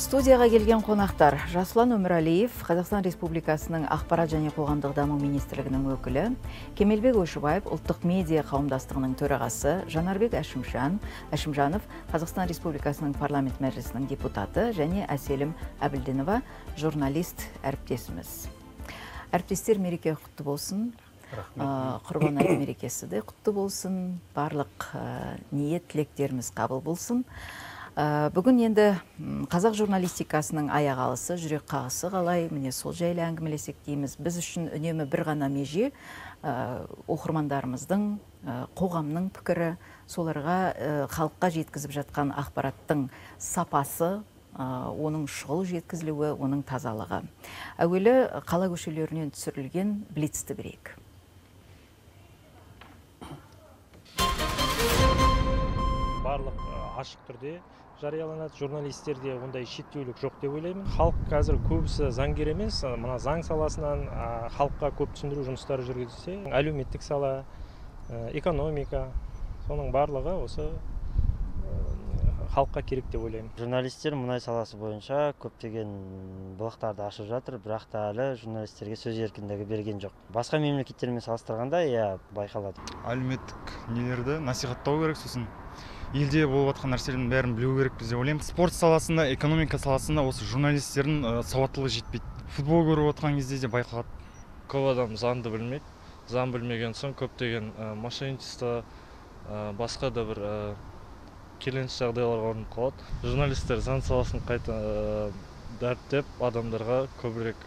Студияға келген қонақтар: Жасұлан Өмірәлиев, Қазақстан Республикасының Ақпарат және қоғамдық даму министрлігінің өкілі, Кемелбек Ойшыбаев, ұлттық медиа қауымдастығының төрағасы, Жанарбек Әшімжанов, Қазақстан Республикасының парламент мәжілісінің депутаты, және Әселім Әбілдинова, журналист әріптесіміз. Әріптестер, мереке құтты болсын. Құрбан айт мерекесі де құтты болсын. Барлық ниет тілектеріміз қабыл болсын. Бүгін енді қазақ журналистикасының аяқ алысы, жүрек қағысы қалай, міне сол жайлы әңгімелесек дейміз. Біз үшін үнемі бір ғана меже оқырмандарымыздың, қоғамның пікірі, соларға халыққа жеткізіп жатқан ақпараттың сапасы, оның шұғыл жеткізілуі, оның тазалығы. Әуелі қала көшелерінен түсірілген блицті бірейік. Барлық ашық түрде жарияланады, журналистерде ондай шектеулік жоқ деп ойлаймын. Халық қазір көбісі заңгер емес, мына заң саласынан халыққа көп түсіндіру жұмыстары жүргізілсе, әлеуметтік сала, экономика, соның барлығы осы халыққа керек деп ойлаймын. Журналистер мұнай саласы бойынша көптеген былықтарды ашып жатыр, бірақ та әлі журналистерге сөз еркіндігі берген жоқ. Басқа мемлекеттермен салыстырғанда байқалады. Әлеуметтік нелерді насихаттау керек, сосын елде болып жатқан нәрселердің бәрін білу керек деп ойлаймын. Спорт саласында, экономика саласында осы журналистердің сауаттылығы жетпейді. Футбол көріп отқан кезде де байқалады. Көп адам заңды білмейді. Заң білмеген соң көптеген мошенничество, басқа да бір келеңсіз жағдайлар орын қалады. Журналистер заң саласын қайта дәріптеп, адамдарға көбірек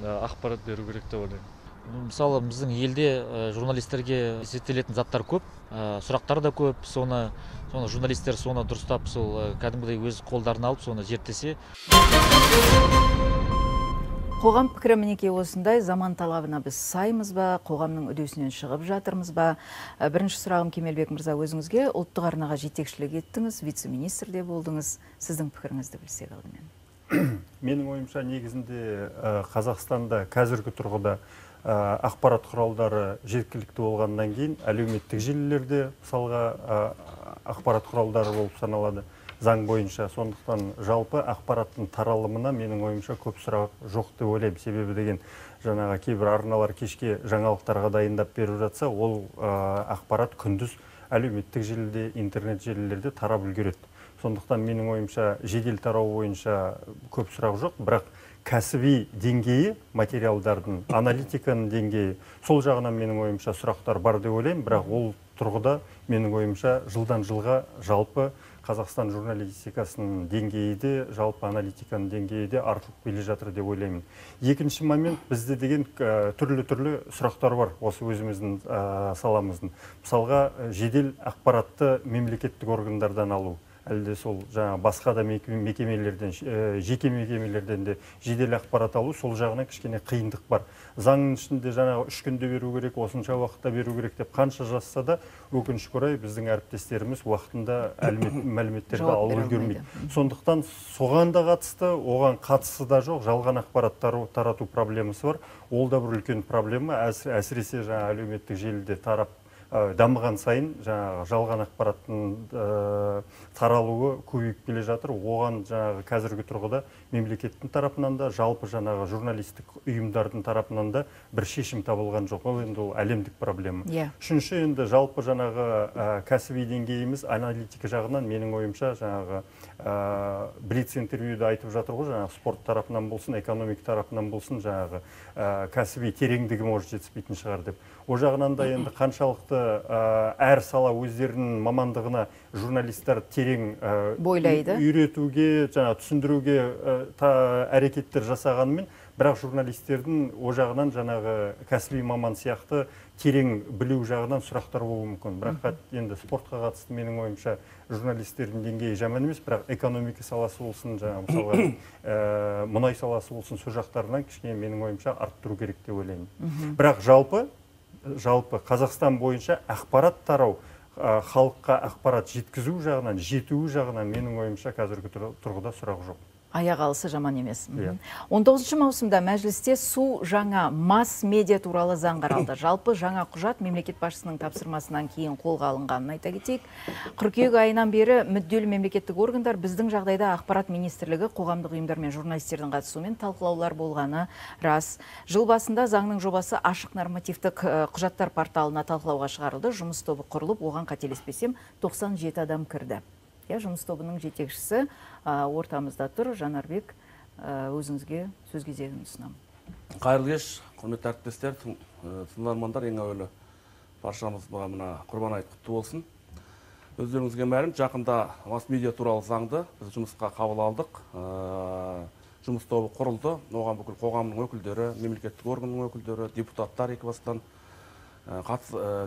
ақпарат беру керек деп ойлаймын. Мысалы, біздің елде журналистерге зерттелетін заттар көп, сұрақтар да көп, соны журналистер соны дұрыстап, сол кәдімгідей өз қолдарына алып, соны зерттесе. Қоғам пікірі мінекей осындай, заман талабына біз саймыз ба, қоғамның үдесінен шығып жатырмыз ба? Бірінші сұрағым Кемелбек мырза, өзіңізге. Ұлттық арнаға жетекшілік еттіңіз, вице-министр де болдыңыз. Сіздің пікіріңізді білсек алдымен. Менің ойымша, негізінде Қазақстанда қазіргі тұрғыда ақпарат құралдары жеткілікті болғаннан кейін әлеуметтік желілерде мысалға ақпарат құралдары болып саналады заң бойынша. Сондықтан жалпы ақпараттың таралымына менің ойымша көп сұрақ жоқ деп ойлаймын. Себебі деген жаңағы кейбір арналар кешке жаңалықтарға дайындап беріп жатса, ол ақпарат күндіз әлеуметтік желіде, интернет желілерде тарап үлгереді. Сондықтан менің ойымша жедел тарау бойынша көп сұрақ жоқ, бірақ кәсіби деңгейі, материалдардың, аналитиканың деңгейі, сол жағынан менің ойымша сұрақтар бар деп ойлаймын, бірақ ол тұрғыда менің ойымша жылдан жылға жалпы Қазақстан журналистикасының деңгейі де, жалпы аналитиканың деңгейі де артылып келе жатыр деп ойлаймын. Екінші момент, бізде деген түрлі сұрақтар бар осы өзіміздің саламыздың. Мысалға, жедел ақпаратты мемлекеттік органдардан алу. Әлде сол басқа да мекемелерден, жеке мекемелерден де жедел ақпарат алу, сол жағына кішкене қиындық бар. Заңның ішінде 3 күнде беру керек, осынша уақытта беру керек деп қанша жазса да, өкінішке орай біздің әріптестеріміз уақытында мәліметтерді алып үлгермейді. Сондықтан соған да қатысты, оған қатысы да жоқ, жалған ақпараттар тарату проблемасы бар. Ол да бір үлкен проблема, әсіресе әлеуметтік желіде тарап дамыған сайын жалған ақпараттың таралуы көбейіп келе жатыр. Оған қазіргі тұрғыда мемлекеттің тарапынан да, жалпы журналистік ұйымдардың тарапынан да бір шешім табылған жоқ. Ол енді әлемдік проблема. Үшінші, енді жалпы кәсіби деңгейіміз аналитика жағынан менің ойымша блиц интервьюді айтып жатыр ғой, спорт тарапынан болсын, экономика тарапынан болсын, кәсіби тереңдігі может жетіспейтін шығар деп. О жағынан да енді қаншалықты әр сала өздерінің мамандығына журналистер терең бойлайды, үйретуге, түсіндіруге әрекеттер жасағанымен, бірақ журналистердің о жағынан кәсіби маман сияқты терең білу жағынан сұрақтар болуы мүмкін. Бірақ енді спортқа қатысты менің ойымша журналистердің деңгейі жаман емес, бірақ экономика саласы болсын, мысалға мұнай саласы болсын, сол жақтарынан кішкене менің ойымша арттыру керек деп ойлаймын. Бірақ жалпы Қазақстан бойынша ақпарат тарау, халыққа ақпарат жеткізу жағынан, жетуі жағынан менің ойымша қазіргі тұрғыда сұрақ жоқ. Аяқ алысы жаман емес. Иә. 19 маусымда мәжілісте су жаңа масс медиа туралы заң қаралды. Жалпы жаңа құжат мемлекет басшысының тапсырмасынан кейін қолға алынғанын айта кетейік. Қыркүйек айынан бері мүдделі мемлекеттік органдар біздің жағдайда ақпарат министрлігі қоғамдық ұйымдар мен журналистердің қатысуымен талқылаулар болғаны рас. Жыл басында заңның жобасы ашық нормативтік құжаттар порталына талқылауға шығарылды. Жұмыс тобы құрылып, оған қателеспесем 97 адам кірді. Жұмыс тобының жетекшісі ортамызда тұр. Жанарбек, өзіңізге сөз кезегін ұсынамын. Қайырлы кеш, құрметті әріптестер, тыңдармандар, ең әуелі баршамыз мына Құрбан айт құтты болсын. Өздеріңізге мәлім, жақында масс-медиа туралы заңды біз жұмысқа қабыл алдық. Жұмыс тобы құрылды. Оған бүкіл қоғамның өкілдері, мемлекеттік органның өкілдері, депутаттар екібастан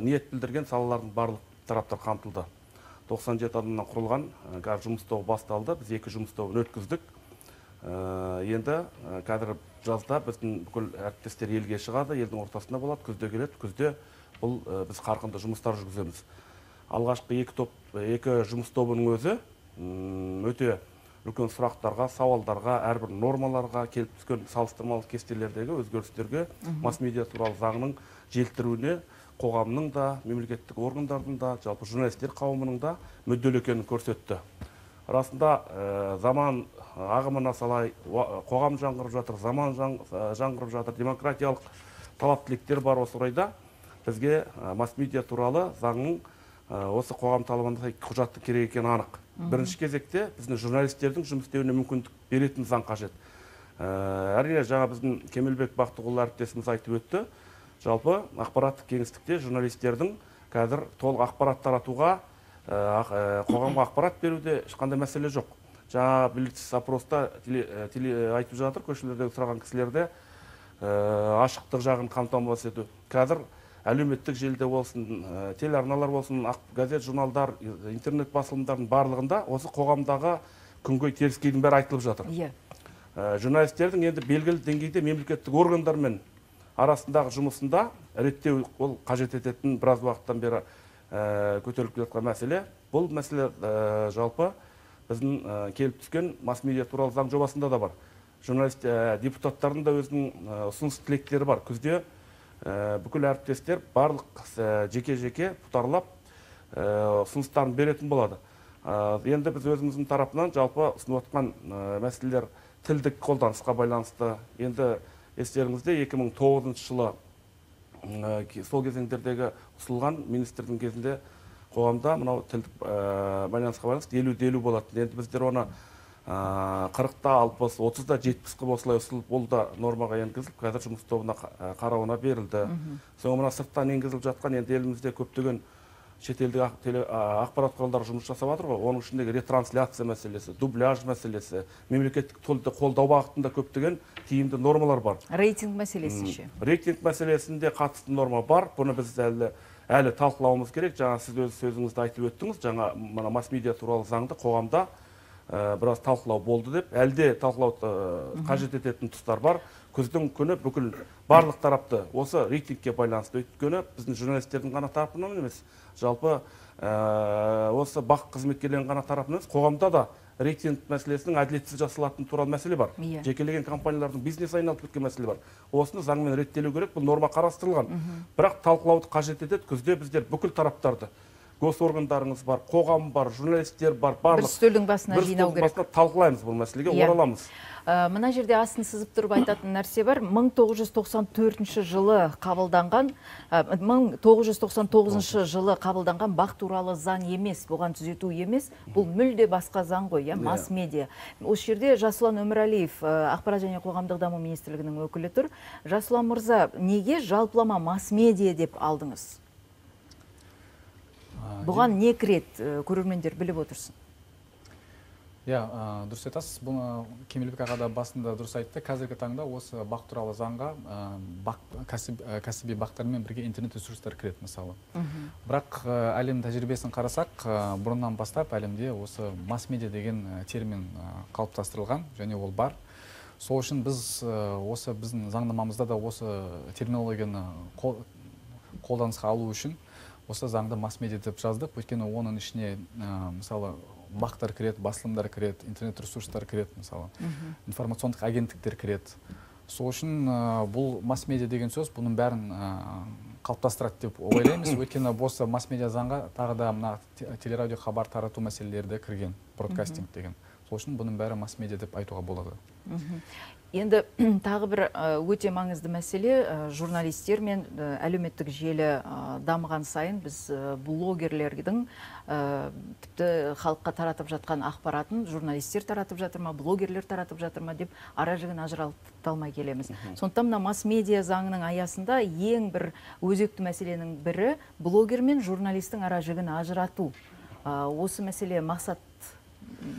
ниет білдірген салалардың барлық тараптар қамтылды. 97 адамнан құрылған жұмыс тобы басталды. Біз 2 жұмыс тобын өткіздік. Енді қазір жазда біздің бүкіл әріптестер елге шығады, елдің ортасында болады, күзде келеді. Күзде бұл біз қарқынды жұмыстар жүргіземіз. Алғашқы 2 жұмыс тобының өзі өте үлкен сұрақтарға, сауалдарға, әрбір нормаларға, келіп түскен салыстырмалы кестелердегі өзгерістерге масс-медиа туралы заңның желтіруіне қоғамның да, мемлекеттік органдардың да, жалпы журналистер қауымының да мүдделі екенін көрсетті. Расында заман ағымына салай қоғам жаңғырып жатыр, заман жаңғырып жатыр, демократиялық талап тілектер бар. Осы орайда бізге масс-медиа туралы заңның осы қоғам талабына сай құжатты керек екені анық. Бірінші кезекте біздің журналистердің жұмыс істеуіне мүмкіндік беретін заң қажет. Әрине, жаңа біздің Кемелбек Бақтығұл әріптесіміз айтып өтті. Жалпы ақпараттық кеңістікте журналистердің қазір толық ақпарат таратуға, қоғамға ақпарат беруде ешқандай мәселе жоқ. Жаңа Блиц опроста айтып жатыр, көшелердегі сұраған кісілерде ашықтық жағын қамтамасыз ету. Қазір әлеуметтік желіде болсын, телеарналар болсын, газет, журналдар, интернет басылымдардың барлығында осы қоғамдағы күнгөй теріскейдің бәрі айтылып жатыр. Журналистердің енді белгілі деңгейде мемлекеттік органдармен арасындағы жұмысында реттеу ол қажет ететін біраз уақыттан бері көтеріліп жатқан мәселе. Бұл мәселе жалпы біздің келіп түскен масс-медиа туралы заң жобасында да бар. Журналист депутаттардың да өзінің ұсыныс тілектері бар. Күзде бүкіл әріптестер барлық жеке-жеке бұтарлап ұсыныстарын беретін болады. Енді біз өзіміздің тарапынан жалпы ұсынып отқан мәселелер тілдік қолданысқа байланысты. Енді естеріңізде 2009 жылы сол кезеңдердегі ұсынылған министрдің кезінде қоғамда мынау тілдік байланысқа байланысты 50-50 болады. Енді біздер оны 40-та 60, 30-да 70-қа осылай ұсынылып, ол да нормаға енгізіліп, қазір жұмыс тобына қарауына берілді. Соңғы мына сырттан енгізіліп жатқан енді елімізде көптеген шетелдік ақпарат құралдары жұмыс жасап жатыр ғой. Оның ішіндегі ретрансляция мәселесі, дубляж мәселесі, мемлекеттік тілді қолдау бағытында көптеген тиімді нормалар бар. Рейтинг мәселесі ше? Рейтинг мәселесінде қатысты норма бар. Бұны біз әлі талқылауымыз керек. Жаңа сіз өз сөзіңізді айтып өттіңіз. Жаңа масс-медиа туралы заңды қоғамда біраз талқылау болды деп, әлде талқылау қажет ететін тұстар бар. Күздің күні бүкіл барлық тарапты осы рейтингке байланысты, өйткені біздің журналистердің ғана тарапынан емес, жалпы осы бақ қызметкерлерінің ғана тарапынан емес, қоғамда да рейтинг мәселесінің әділетсіз жасалатын туралы мәселе бар. Жекелеген компаниялардың бизнес айналып кеткен мәселе бар. Осыны заңмен реттелу керек, бұл норма қарастырылған. Бірақ талқылауды қажет етеді. Күзде біздер бүкіл тараптарды, госоргандарыңыз бар, қоғам бар, журналистер бар, барлық бір үстелдің басына жинау керек. Талқылаймыз бұл мәселеге, ораламыз. Мына жерде астын сызып тұрып айтатын нәрсе бар. 1994 жылы қабылданған, 1999 жылы қабылданған бақ туралы заң емес, бұған түзету емес, бұл мүлде басқа заң ғой, масс-медиа. Осы жерде Жасұлан Өмірәлиев, ақпарат және қоғамдық даму министрлігінің өкілі тұр. Жасұлан мырза, неге жалпылама масс-медиа деп алдыңыз? Бұған не кіреді, көрермендер біліп отырсын? Дұрыс айтасыз. Бұны Кемелбек аға да басында дұрыс айтты. Қазіргі таңда осы бақ туралы заңға кәсіби бақтармен бірге интернет ресурстар кіреді мысалы. Бірақ әлем тәжірибесін қарасақ, бұрыннан бастап әлемде осы масс-медиа деген термин қалыптастырылған, және ол бар. Сол үшін біз осы біздің заңнамамызда да осы терминологияны қолданысқа алу үшін осы заңды масс-медиа деп жаздық. Өйткені оның ішіне мысалы бақтар кіреді, басылымдар кіреді, интернет ресурстар кіреді, мысалы информациондық агенттіктер кіреді. Сол үшін бұл масс-медиа деген сөз бұның бәрін қалыптастырады деп ойлаймыз. Өйткені осы масс-медиа заңға тағы да мына телерадио хабар тарату мәселелері де кірген, бродкастинг деген. Сол үшін бұның бәрі масс-медиа деп айтуға болады. Енді тағы бір өте маңызды мәселе, журналистер мен әлеуметтік желі дамыған сайын біз блогерлердің тіпті халыққа таратып жатқан ақпаратын журналистер таратып жатыр ма, блогерлер таратып жатыр ма деп ара жігін ажыраталмай келеміз. Сондықтан мына масс-медиа заңының аясында ең бір өзекті мәселенің бірі блогер мен журналистің ара жігін ажырату. Осы мәселе мақсат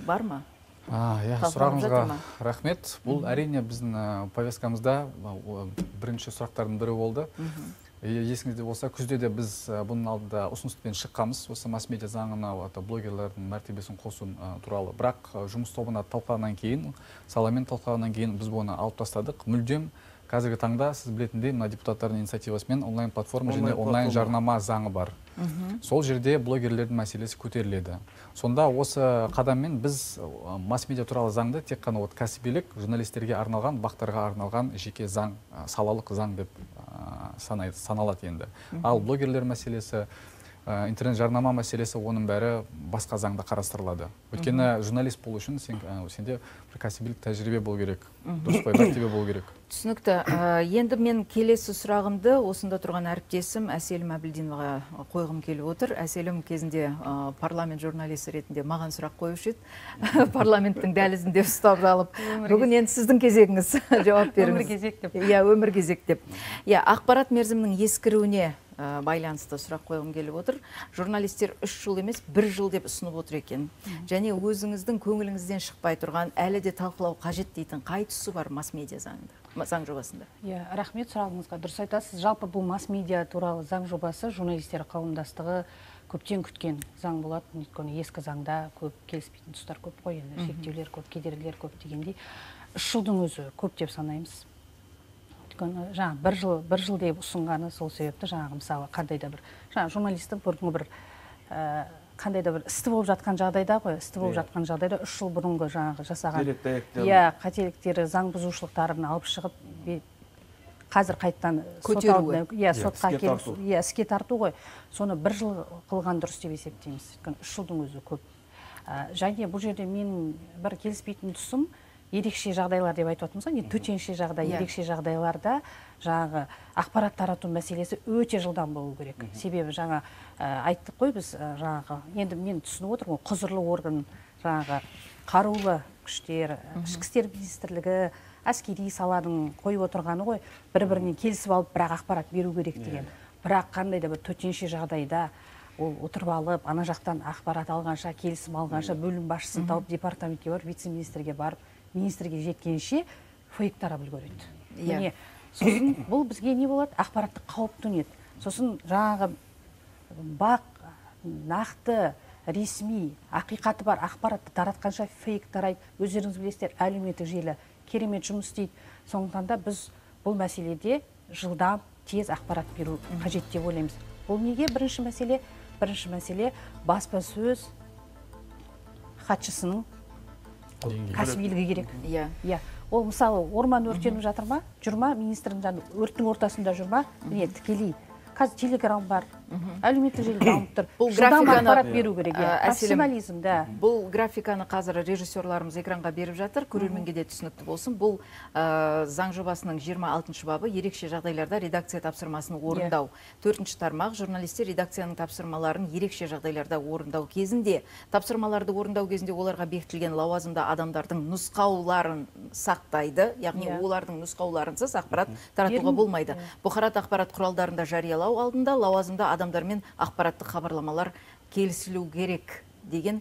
бар ма? Сұрағыңызға рахмет. Бұл әрине біздің повесткамызда бірінші сұрақтардың бірі болды. Есіңізде болса, күзде де біз бұның алдында ұсыныспен шыққанбыз, осы масс-медиа заңына блогерлердің мәртебесін қосу туралы. Бірақ жұмыс тобына талқылағаннан кейін, саламен талқылағаннан кейін біз бұны алып тастадық. Мүлдем қазіргі таңда сіз білетіндей, мына депутаттардың инициативасымен онлайн платформа және онлайн жарнама заңы бар. Сол жерде блогерлердің мәселесі көтеріледі. Сонда осы қадаммен біз масс-медиа туралы заңды тек қана кәсібилік, журналистерге арналған, бақтарға арналған жеке заң, салалық заң деп саналады енді. Ал блогерлер мәселесі, интернет жарнама мәселесі, оның бәрі басқа заңда қарастырылады. Өйткені журналист болу үшін сенде бір кәсібилік тәжірибе болу керек, дұрыс қой, мәртебе болу керек. Түсінікті. Енді мен келесі сұрағымды осында тұрған әріптесім Әселім Әбілдиноваға қойғым келіп отыр. Әселім кезінде парламент журналисі ретінде маған сұрақ қойушы еді. Парламенттің дәлізінде ұстап алып, бүгін енді сіздің кезегіңіз, жауап беріңіз. Өмір кезек деп. Өмір кезек деп. Ақпарат мерзімінің ескіруіне байланысты сұрақ қойғым келіп отыр. Журналистер 3 жыл емес, 1 жыл деп ұсынып отыр екен. Және өзіңіздің көңіліңізден шықпай тұрған, әлі де талқылау қажет дейтін қай тұсы бар масс-медиа заң жобасында? Рахмет сұрағыңызға. Дұрыс айтасыз. Жалпы бұл масс-медиа туралы заң жобасы журналистер қауымдастығы көптен күткен заң болады. Өйткені ескі заңда көп келіспейтін тұстар көп қой, шектеулер көп, кедергілер көп дегендей. 3 жылдың өзі көп деп санаймыз. Бір жыл деп ұсынғаны сол себепті мысалы қандай да бір журналистің бұрынғы бір қандай да бір істі болып жатқан жағдайда ғой, істі болып жатқан жағдайда 3 жыл бұрынғы жасаған қателіктері, заң бұзушылықтарын алып шығып, қазір қайттан іске тарту ғой, соны 1 жыл қылған дұрыс деп есептейміз. 3 жылдың өзі көп. Және бұл жерде менің бір келіспейтін тұсым, ерекше жағдайлар деп айтып отырмыз ғой, төтенше жағдай, ерекше жағдайларда ақпарат тарату мәселесі өте жылдам болу керек. Себебі айттық қой біз, енді мен түсініп отырмын, құзырлы орган, қарулы күштер, ішкі істер министрлігі, әскери саланың қойып отырғаны ғой, бір-бірінен келісіп алып, бірақ ақпарат беру керек деген. Бірақ қандай да бір төтенше жағдайда ол отырып алып, ана жақтан ақпарат алғанша, келісім алғанша, бөлім басшысын тауып, департаментке барып, вице-министрге барып, министрге жеткенше фейк тарап үлгереді. Сосын бұл бізге не болады? Ақпараттық қауіп төнеді. Сосын бақ, нақты, ресми, ақиқаты бар ақпаратты таратқанша фейк тарайды. Өздеріңіз білесіздер, әлеуметтік желі керемет жұмыс істейді. Сондықтан да біз бұл мәселеде жылдам, тез ақпарат беру қажет деп ойлаймыз. Бұл неге? Бірінші мәселе баспасөз хатшысының кәсібилігі керек. Ол мысалы орман өртеніп жатыр ма, жүрма, министрдің өрттің ортасында жүрма, тікелей. Қазір телеграм бар, әлеуметтік желі дамып тұр. Жылдам ақпарат беру керек. Профессионализм, да. Бұл графиканы қазір режиссерларымыз экранға беріп жатыр, көрерменге де түсінікті болсын. Бұл заң жобасының 26 бабы ерекше жағдайларда редакция тапсырмасын орындау. 4-ші тармақ журналистер редакцияның тапсырмаларын ерекше жағдайларда орындау кезінде, тапсырмаларды орындау кезінде оларға бекітілген лауазымды адамдардың нұсқауларын сақтайды, яғни олардың нұсқауларынсыз ақпарат таратуға болмайды. Бұқарат ақпарат құралдарында жариялау алдында лауазымды адамдармен ақпараттық хабарламалар келісілу керек деген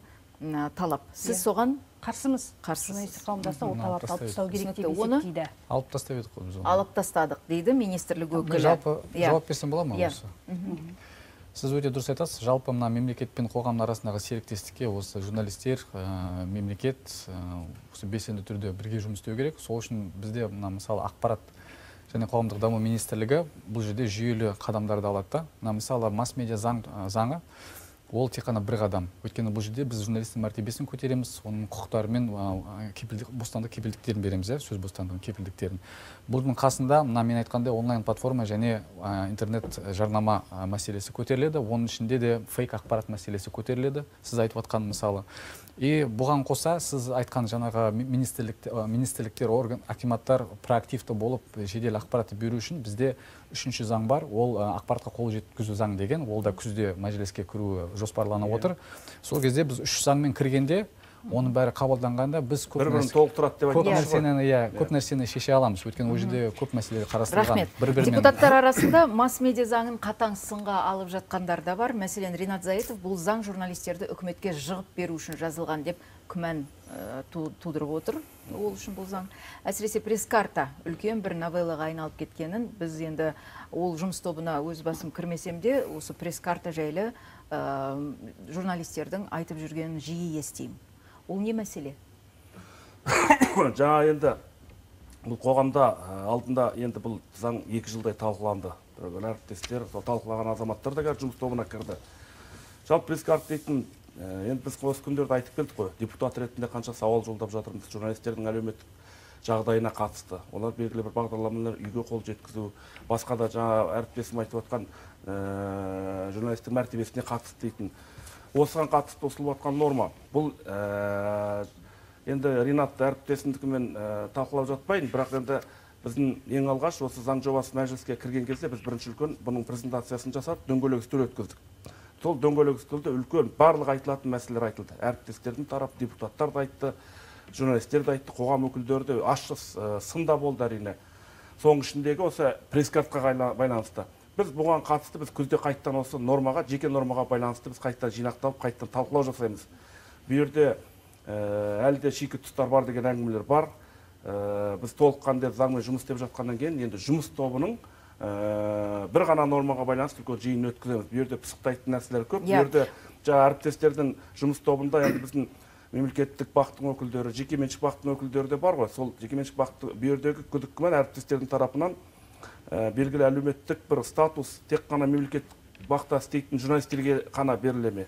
талап. Сіз соған қарсымыз. Журналистік қауымдастық ол талапты алып тастау керек деп есептейді. Алып тастап едік қой біз оны. Алып тастадық дейді министрлік өкілі. Жалпы жауап берсем бола ма осы? Сіз өте дұрыс айтасыз. Жалпы мына мемлекет пен қоғам арасындағы серіктестікке осы журналистер, мемлекет осы белсенді түрде бірге жұмыс істеу керек. Сол үшін бізде мысалы ақпарат және қоғамдық даму министрлігі бұл жерде жүйелі қадамдарды алады. Мысалы масс-медиа заңы ол тек қана бір қадам. Өйткені бұл жерде біз журналистің мәртебесін көтереміз, оның құқықтары мен бостандық кепілдіктерін береміз, сөз бостандығын кепілдіктерін. Бұның қасында мына мен айтқандай онлайн платформа және интернет жарнама мәселесі көтеріледі. Оның ішінде де фейк ақпарат мәселесі көтеріледі. Сіз айтып отқан мысалы. И бұған қоса сіз айтқан жаңағы министрліктер, орган, акиматтар проактивті болып жедел ақпаратты беру үшін бізде үшінші заң бар. Ол ақпаратқа қол жеткізу заң деген. Ол да күзде мәжіліске кіру жоспарланып отыр. Сол кезде біз үш заңмен кіргенде, оның бәрі қабылданғанда біз көп нәрсені шеше аламыз. Өйткені ол жерде көп мәселелер қарастырылған. Рахмет. Депутаттар арасында масс-медиа заңын қатаң сынға алып жатқандар да бар. Мәселен, Ринат Заитов бұл заң журналистерді үкіметке жығып беру үшін жазылған деп күмән тудырып отыр. Ол үшін бұл заң. Әсіресе пресс-карта үлкен бір новеллаға айналып кеткенін біз енді ол жұмыс тобына өз басым кірмесем де, осы пресс-карта жайлы журналистердің айтып жүргенін жиі естеймін. Ол не мәселе? Жаңа енді бұл қоғамда алдында енді бұл заң 2 жылдай талқыланды. Әріптестер, талқылаған азаматтар да жұмыс тобына кірді. Жалпы пресс-карта дейтін, енді біз осы күндерді айтып келдік қой, депутат ретінде қанша сауал жолдап жатырмыз журналистердің әлеуметтік жағдайына қатысты. Олар белгілі бір бағдарламалар үйге қол жеткізу, басқа да жаңа әріптесім айтып отқан журналистің мәртебесіне қатысты дейтін. Осыған қатысты ұсынылып жатқан норма. Бұл енді Ринат әріптесімдікімен талқылап жатпайын, бірақ енді біздің ең алғаш осы заң жобасы мәжіліске кірген кезде біз бірінші үлкен бұның презентациясын жасап, дөңгелек үстел өткіздік. Сол дөңгелек үстелде үлкен барлық айтылатын мәселелер айтылды. Әріптестердің тарап, депутаттар да айтты, журналистер де айтты, қоғам өкілдері де ащы сында болды әрине. Соның ішіндегі осы пресс-картаға байланысты. Біз бұған қатысты, біз күзде қайттан осы нормаға, жеке нормаға байланысты біз қайттан жинақталып, қайттан талқылау жасаймыз. Бұл жерде әлі де шикі тұстар бар деген әңгімелер бар. Біз толыққанды заңмен жұмыс істеп жатқаннан кейін, енді жұмыс тобының бір ғана нормаға байланысты үлкен жиын өткіземіз. Бұл жерде пысықтайтын нәрселер көп. Бұл жерде жаңа әріптестердің жұмыс тобында енді біздің мемлекеттік бақтың өкілдері, жекеменшік бақтың өкілдері де бар ғой. Сол жекеменшік бақты бұл жердегі күдік күмән әріптестердің тарапынан белгілі әлеуметтік бір статус тек қана мемлекеттік бақта істейтін журналистерге қана беріле ме?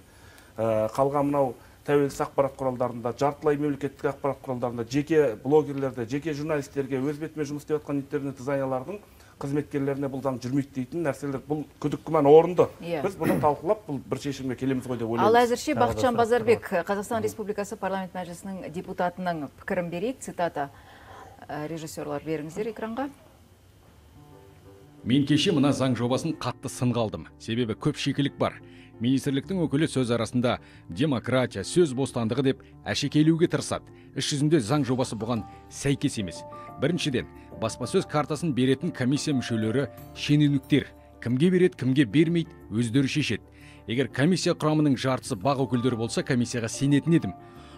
Қалған мынау тәуелсіз ақпарат құралдарында, жартылай мемлекеттік ақпарат құралдарында, жеке блогерлерде, жеке журналистерге өз бетімен жұмыс істеп жатқан интернет дизайнерлердің қызметкерлеріне бұл заң жүрмейді дейтін нәрселер, бұл күдік күмән орынды. Біз бұны талқылап, бұл бір шешімге келеміз ғой деп ойлаймыз. Ал әзірше Бақытжан Базарбек, Қазақстан Республикасы парламент мәжілісінің депутатының пікірін берейік. Цитата, режиссерлар беріңіздер экранға. Мен кеше мына заң жобасын қатты сынға алдым. Себебі көп шикілік бар. Министрліктің өкілі сөз арасында демократия, сөз бостандығы деп әшекейлеуге тырысады. Іс жүзінде заң жобасы бұған сәйкес емес. Біріншіден, баспасөз картасын беретін комиссия мүшелері шенеуніктер. Кімге береді, кімге бермейді, өздері шешеді. Егер комиссия құрамының жартысы бақ өкілдері болса, комиссияға сенетін едім.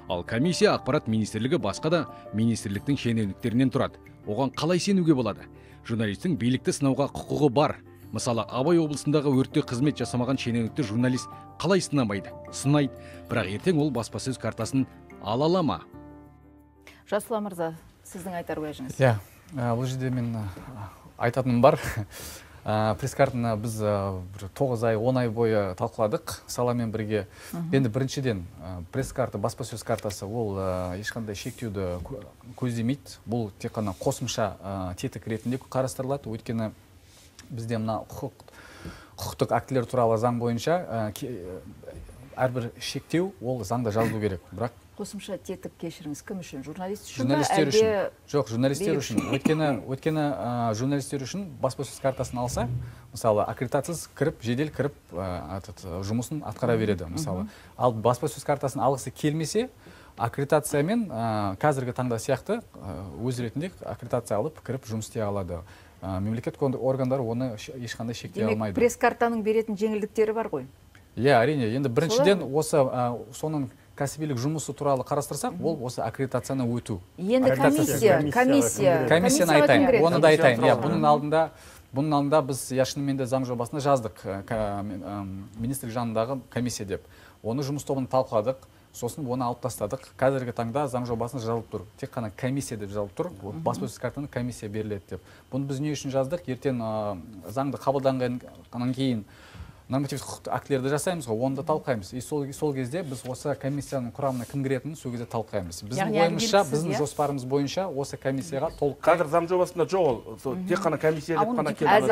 Ал комиссия ақпарат министрлігі басқа да министрліктің шенеуніктерінен тұрады. Оған қалай сенуге болады? Журналистің билікті сынауға құқығы бар. Мысалы, Абай облысындағы өртте қызмет жасамаған шенеунікті журналист қалай сынамайды? Сынайды, бірақ ертең ол баспасөз картасын ала ма? Жасұлан мырза, сіздің айтар уәжіңіз. Бұл жерде мен айтатыным бар. Пресс-картаны біз 9 ай, 10 ай бойы талқыладық саламен бірге. Енді біріншіден пресс-карта, баспасөз картасы ол ешқандай шектеуді көздемейді. Бұл тек қана қосымша тетік ретінде қарастырылады. Өйткені бізде мына құқықтық актілер туралы заң бойынша әрбір шектеу ол заңда жазылу керек. Бірақ қосымша тетік кешіріңіз кім үшін? Журналист үшін? Журналистер үшін. Жоқ, журналистер үшін. Өйткені журналистер үшін баспасөз картасын алса, мысалы, аккредитациясыз кіріп, жедел кіріп, жұмысын атқара береді, мысалы. Ал баспасөз картасын алғысы келмесе, аккредитациямен қазіргі таңда сияқты өз ретінде аккредитация алып, кіріп жұмыс істей алады. Мемлекет органдары оны ешқандай шектей алмайды. Демек, пресс-картаның беретін жеңілдіктері бар ғой? Әрине. Енді біріншіден осы соның кәсібилік жұмысы туралы қарастырсақ, ол осы аккредитацияны өту. Енді комиссияны айтайын, оны да айтайын. Бұның алдында біз шынымен де заң жобасына жаздық, министрлік жанындағы комиссия деп. Оны жұмыс тобын талқыладық, сосын оны алып тастадық. Қазіргі таңда заң жобасына жазылып тұр. Тек қана комиссия деп жазылып тұр. Баспасөз картаны комиссия беріледі деп. Бұны біз не үшін жаздық? Ертең заңды қабылданғаннан кейін нормативтік құқықтық актілерді жасаймыз ғой, оны да талқылаймыз. И сол кезде біз осы комиссияның құрамына кім кіретінін сол кезде талқылаймыз. Біздің ойымызша, біздің жоспарымыз бойынша осы комиссияға толық. Қазір заң жобасында жоқ ол. Тек қана комиссия деп қана келді.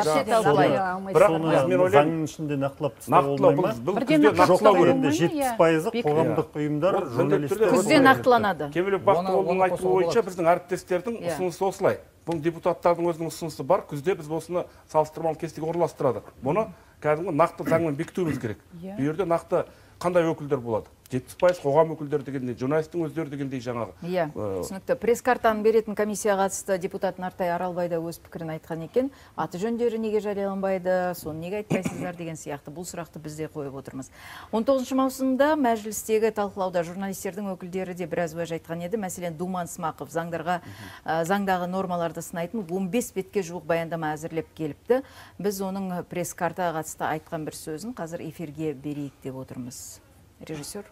Заңның ішінде нақтылап тастау болмай ма? 70% қоғамдық ұйымдар, журналистер күзде нақтыланады. Кемелбек Бақтығұлының айтуы бойынша біздің әріптестердің ұсынысы осылай. Бұл депутаттардың өзінің ұсынысы бар. Күзде біз осыны салыстырмалы кестеге орналастырады. Бұны кәдімгі нақты заңмен бекітуіміз керек. Бұл жерде нақты қандай өкілдер болады? 70% қоғам өкілдері дегендей, журналистің өздері дегендей жаңағы. Иә, түсінікті. Пресс-картаны беретін комиссияға қатысты депутат Нартай Аралбай да өз пікірін айтқан екен. Аты жөндері неге жарияланбайды, соны неге айтпайсыздар деген сияқты бұл сұрақты біз де қойып отырмыз. 19 маусымда мәжілістегі талқылауда журналистердің өкілдері де біраз уәж айтқан еді. Мәселен, Думан Смақов заңдағы нормаларды сынайтын 15 бетке жуық баяндама әзірлеп келіпті. Біз оның пресс-картаға қатысты айтқан бір сөзін қазір эфирге берейік деп отырмыз. Режиссер.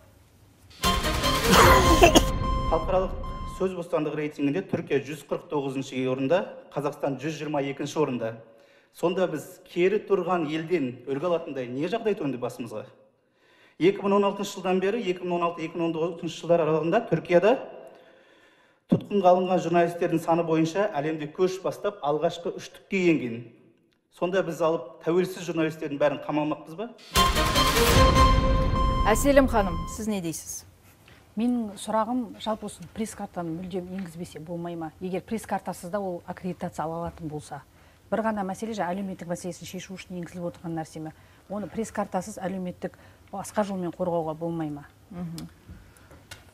Халықаралық сөз бостандығы рейтингінде Түркия 149-ші орында, Қазақстан 122-ші орында. Сонда біз кері тұрған елден үлгі алатындай не жағдай төнді басымызға? 2016 жылдан бері 2016-2019 жылдар аралығында Түркияда тұтқынға алынған журналистердің саны бойынша әлемде көш бастап алғашқы үштікке енген. Сонда біз алып тәуелсіз журналистердің бәрін қамалмақпыз ба? Әселім ханым, сіз не дейсіз? Менің сұрағым жалпы осы пресс-картаны мүлдем енгізбесе болмай ма? Егер пресс-картасыз да ол аккредитация ала алатын болса. Бір ғана мәселе әлеуметтік мәселесін шешу үшін енгізіліп отырған нәрсе ме? Оны пресс-картасыз әлеуметтік басқа жолмен қорғауға болмай ма?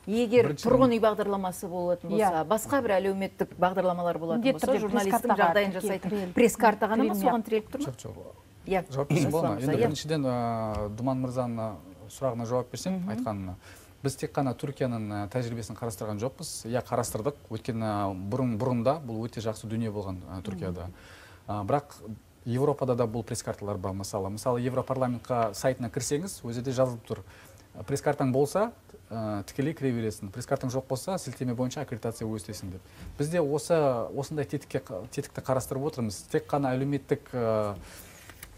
Егер тұрғын үй бағдарламасы болатын болса, басқа бір әлеуметтік бағдарламалар болатын болса, журналистің жағдайын жасайтын пресс-карта ғана ма соған тіреліп тұр ма? Жауапкершілік болма. Енді біріншіден Думан мырзаның сұрағына жауап берсем, айтқанына. Біз тек қана Түркияның тәжірибесін қарастырған жоқпыз. Иә, қарастырдық. Өйткені бұрында бұл өте жақсы дүние болған Түркияда. Бірақ Европада да бұл пресс-карталар бар. Мысалы, Европарламентқа сайтына кірсеңіз, өзіде жазылып тұр. Пресс-картаң болса, тікелей кіре бересің. Пресс-картаң жоқ болса, сілтеме бойынша аккредитация өстесің деп. Біз де осындай тетікті қарастырып отырмыз. Тек қана әлеуметтік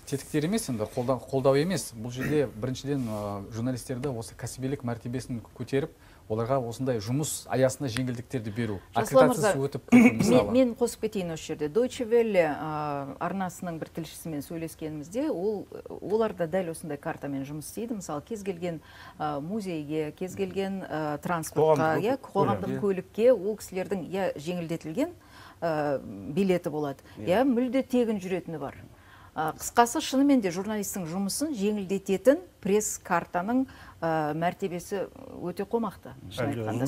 тетіктер емес, енді қолдау емес. Бұл жерде біріншіден журналистерді осы кәсібилік мәртебесін көтеріп, оларға осындай жұмыс аясында жеңілдіктерді беру. Аккредитациясы өтіп, мысалы. Мен қосып кетейін осы жерде. Deutsche Welle арнасының бір тілшісімен сөйлескенімізде, олар да дәл осындай картамен жұмыс істейді. Мысалы, кез келген музейге, кез келген транспортқа, қоғамдық көлікке ол кісілердің жеңілдетілген билеті болады. Мүлде тегін жүретіні бар. Қысқасы, шынымен де журналистің жұмысын жеңілдететін пресс-картаның мәртебесі өте қомақты.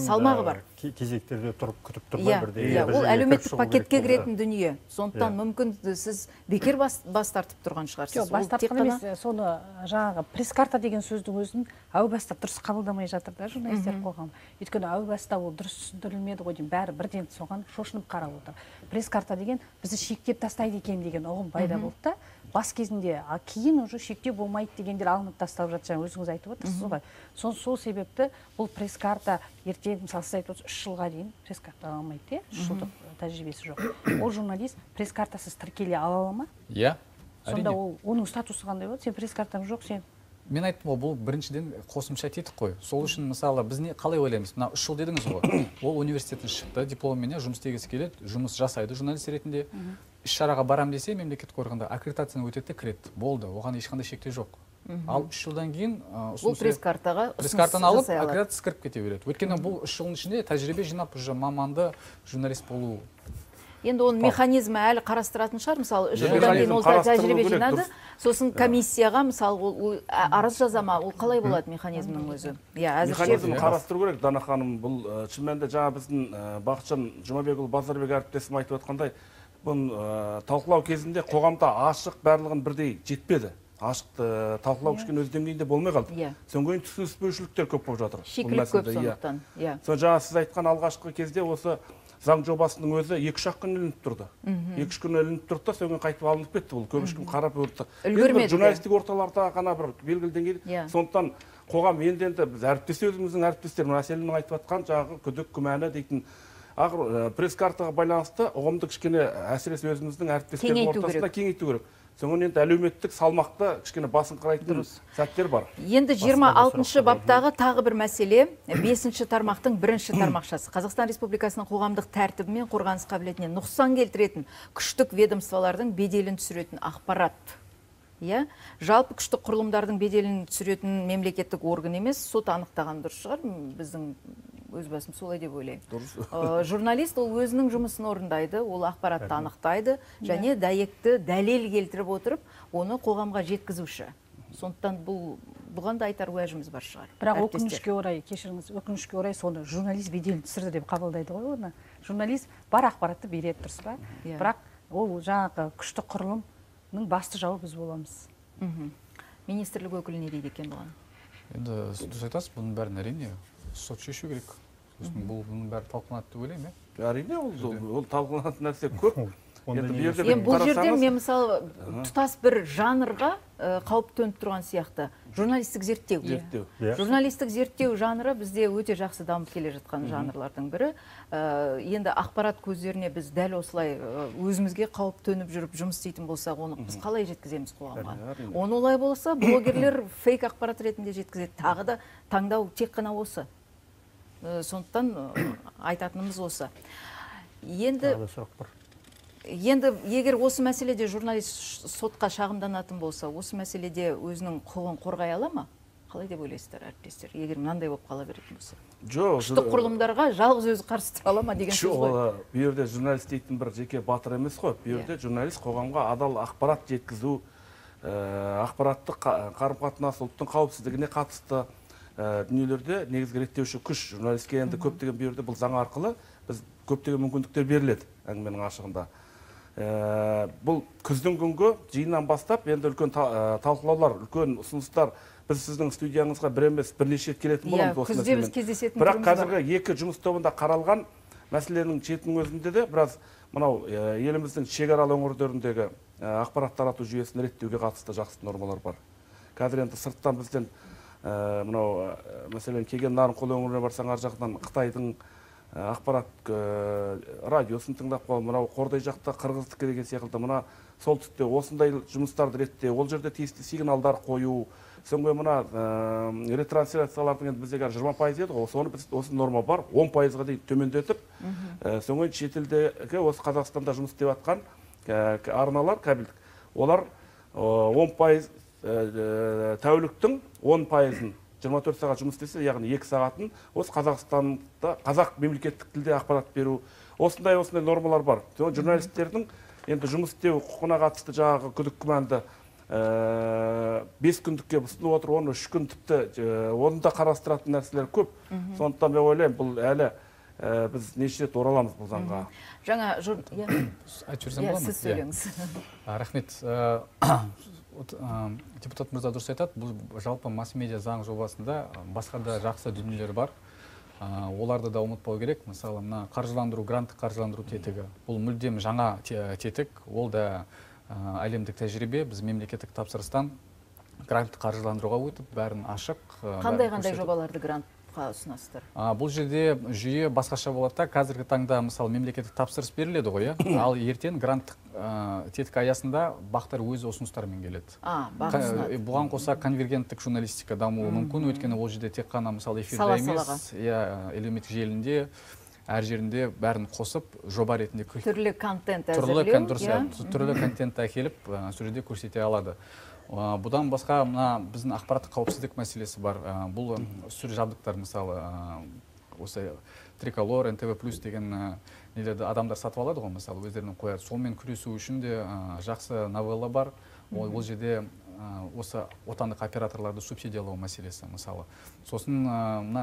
Салмағы бар. Кезектерде тұрып күтіп тұрмай бірде. Ол әлеуметтік пакетке кіретін дүние. Сондықтан мүмкін сіз бекер бас тартып тұрған шығарсыз. Жоқ, бас тартқан емес, соны жаңағы пресс-карта деген сөздің өзін әу баста дұрыс қабылдамай жатыр да журналистер қоғамы. Өйткені әу баста ол дұрыс түсіндірілмеді ғой деймін, бәрі бірден соған шошынып қарап отыр. Пресс-карта деген бізді шектеп тастайды екен деген ұғым пайда болды да. Бас кезінде, кейін уже шектеу болмайды дегендер алынып тасталып жатыр, өзіңіз айтып отырсыз ғой. Сол себепті бұл пресс-карта ертең, мысалы, сіз айтып отырсыз, 3 жылға дейін пресс-карта ала алмайды, 3 жылдық тәжірибесі жоқ. Ол журналист пресс-картасыз тіркеле ала ала ма? Иә. Сонда оның статусы қандай болады? Сен пресс-картаң жоқ, сен. Мен айттым, бұл біріншіден қосымша тетік қой. Сол үшін, мысалы, біз қалай ойлаймыз? Мына 3 жыл дедіңіз ғой. Ол университеттен шықты, дипломмен жұмыс істегісі келеді, жұмыс жасайды журналист ретінде. Іс-шараға барам десе, мемлекеттік органда аккредитацияны өтеді, кіреді. Болды, оған ешқандай шектеу жоқ. Ал 3 жылдан кейін бұл пресс-картаны алып, аккредитация кіріп кете береді. Өйткені бұл 3 жылдың ішінде тәжірибе жинап, маманды журналист болу. Енді оның механизмі әлі қарастыратын шығар, мысалы, 3 жылдан кейін ол тәжірибе жинады, сосын комиссияға, мысалы, арыз жазама, ол қалай болады механизмнің өзі? Механизмі қарастыру керек, Дана ханым, бұл шын мәнінде жаңа біздің Бақытжан Жұмабекұлы Базарбек әріптесім айтып отқандай, бұл талқылау кезінде қоғамда ашық барлығын бірдей жетпеді. Ашық талқылау кішкене өз деңгейінде болмай қалды. Содан кейін түсініспеушіліктер көп болып жатыр. Шикілік көп сондықтан. Соны жаңа сіз айтқан алғашқы кезде осы заң жобасының өзі 2-3 күн ілініп тұрды. 2-3 күн ілініп тұрды да, содан қайтып алынып кетті. Ол көп ешкім қарап өрті. Журналистік орталарда ғана бір белгілі деңгейде. Сондықтан қоғам енді біз өзіміздің әріптестер, Әселімнің айтып жатқан жаңағы күдік, күмәні дейтін пресс-картаға байланысты ұғымды кішкене әсіресе өзіміздің әріптестердің ортасында кеңейту керек. соңын енді әлеуметтік салмақты кішкене басын қарайтын сәттер бар. Енді 26-шы баптағы тағы бір мәселе 5-ші тармақтың 1-ші тармақшасы. Қазақстан Республикасының қоғамдық тәртібі мен қорғаныс қабілетіне нұқсан келтіретін күштік ведомстволардың беделін түсіретін ақпарат. Жалпы күштік құрылымдардың беделін түсіретін мемлекеттік орган емес, сот анықтаған дұрыс шығар, біздің өз басым солай деп ойлаймын. Журналист ол өзінің жұмысын орындайды, ол ақпаратты анықтайды, және дәйекті дәлел келтіріп отырып, оны қоғамға жеткізуші. Сондықтан бұған да айтар уәжіміз бар шығар. Бірақ өкінішке орай, кешіріңіз, өкінішке орай соны журналист беделін түсірді деп қабылдайды ғой оны. Журналист бар ақпаратты береді, дұрыс па? Бірақ ол жаңағы күштік құрылымның басты жауы біз боламыз. Министрлік өкілі не дейді екен бұған? Енді дұрыс айтасыз, бұның бәрін әрине сот шешу керек. Бұның бәрі талқыланады деп ойлаймын. Әрине ол талқыланатын нәрсе көп. Бұл жерде мен мысалы тұтас бір жанрға қауіп төніп тұрған сияқты. Журналистік зерттеу. Журналистік зерттеу жанры бізде өте жақсы дамып келе жатқан жанрлардың бірі. Енді ақпарат көздеріне біз дәл осылай өзімізге қауіп төніп жүріп жұмыс істейтін болсақ, оны біз қалай жеткіземіз қоғамға? Оны олай болса, блогерлер фейк ақпарат ретінде жеткізеді. Тағы да таңдау тек қана осы. Сондықтан айтатынымыз осы. Енді егер осы мәселеде журналист сотқа шағымданатын болса, осы мәселеде өзінің құқығын қорғай ала ма? Қалай деп ойлайсыздар, әріптестер? Егер мынандай болып қала беретін болса. Күштік құрылымдарға жалғыз өзі қарсы тұра ала ма деген сөз ғой. Бұл жерде журналист дейтін бір жеке батыр емес қой. Бұл жерде журналист қоғамға адал ақпарат жеткізу, ақпараттық қарым-қатынас, ұлттың қауіпсіздігіне қатысты дүниелерде негізгі реттеуші күш. Журналистке енді көптеген бұл жерде бұл заң арқылы біз көптеген мүмкіндіктер беріледі әңгіменің ашығында. Бұл күздің күнгі жиыннан бастап енді үлкен талқылаулар, үлкен ұсыныстар біз сіздің студияңызға бір емес бірнеше рет келетін боламыз осы мәселемен. Бірақ қазіргі екі жұмыс тобында қаралған мәселенің шетінің өзінде де біраз мынау еліміздің шекаралы өңірлеріндегі ақпарат тарату жүйесін реттеуге қатысты жақсы нормалар бар. Қазір енді сырттан бізден мынау мәселен келген Нарынқол өңіріне барсаң, ар жақтан Қытайдың ақпарат радиосын тыңдап қалып, мынау Қордай жақта Қырғыздікі деген секілді мына солтүстікте осындай жұмыстарды ретте, ол жерде тиісті сигналдар қою, соңғы мына ретрансляциялардың енді бізде 20% еді ғой, соны біз осы норма бар, 10%-ға дейін төмендетіп, соңғы шетелдегі осы Қазақстанда жұмыс істеп жатқан арналар, кабельдік, олар 10% тәуліктің 10%-ын 24 сағат жұмыс істесе, яғни 2 сағатын осы Қазақстанда қазақ мемлекеттік тілде ақпарат беру, осындай нормалар бар. Журналистердің енді жұмыс істеу құқығына қатысты жаңағы күдік күмәнді 5 күндікке ұсынып отыр, оны 3 күн тіпті оны да қарастыратын нәрселер көп. Сондықтан мен ойлаймын, бұл әлі біз неше рет ораламыз бұл заңға. Жаңа сіз сөйлеңіз. Рахмет. Депутат мырза дұрыс айтады, бұл жалпы масс-медиа заң жобасында басқа да жақсы дүниелер бар. Оларды да ұмытпау керек. Мысалы, қаржыландыру, гранттық қаржыландыру тетігі. Бұл мүлдем жаңа тетік, ол да әлемдік тәжірибе. Біз мемлекеттік тапсырыстан гранттық қаржыландыруға өтіп, бәрін ашық. Қандай жобаларды грантқа ұсынасыздар? Бұл жерде жүйе басқаша болады. Қазіргі таңда мысалы мемлекеттік тапсырыс беріледі ғой, ал ертең гранттық тетік аясында бақтар өз ұсыныстарымен келеді. Бұған қоса конвергенттік журналистика дамуы мүмкін, өйткені ол жерде тек қана мысалы эфирде емес, әлеуметтік желінде әр жерінде бәрін қосып жоба ретінде түрлі контент әзірлеу, түрлі контентті әкеліп сол жерде көрсете алады. Бұдан басқа біздің ақпараттық қауіпсіздік мәселесі бар. Бұл сүр жабдықтар, мысалы осы Триколор, НТВ+ деген нелерді адамдар сатып алады ғой, мысалы өздерінің қояды. Сонымен күресу үшін де жақсы новелла бар. Ол жерде осы отандық операторларды субсидиялау мәселесі, мысалы. Сосын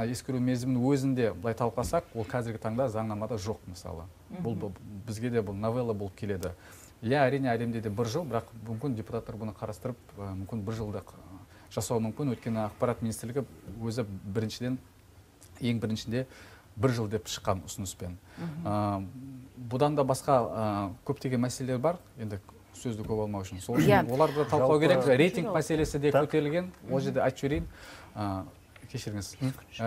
ескіру мерзімінің өзінде былай талқыласақ, ол қазіргі таңда заңнамада жоқ, мысалы. Бізге де бұл новелла болып келеді. Әрине әлемде де 1 жыл, бірақ мүмкін депутаттар бұны қарастырып, мүмкін 1 жылдық жасау мүмкін, өйткені ақпарат министрлігі өзі ең біріншінде 1 жыл деп шыққан ұсыныспен. Бұдан да басқа көптеген мәселелер бар, енді сөзді көп алмау үшін. Сол үшін оларды талқылау керек. Рейтинг мәселесі де көтерілген, ол жерде айтып жіберейін. Кешіріңіз.